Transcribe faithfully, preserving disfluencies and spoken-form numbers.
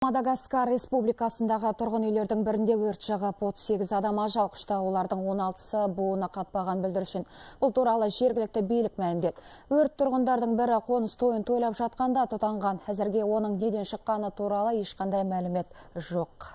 Мадагаскар республикасындағы тұрғын үйлердің бірінде өрт шығып, отыз сегіз адам ажал құшты, олардың он алтысы буыны қатпаған бүлдіршін. Бұл туралы жергілікті билік мәлімдеді. Өрт тұрғындардың бірі қоныс тойын тойлап жатқанда тұтанған. Әзірге оның неден шыққаны туралы ешқандай мәлімет жоқ.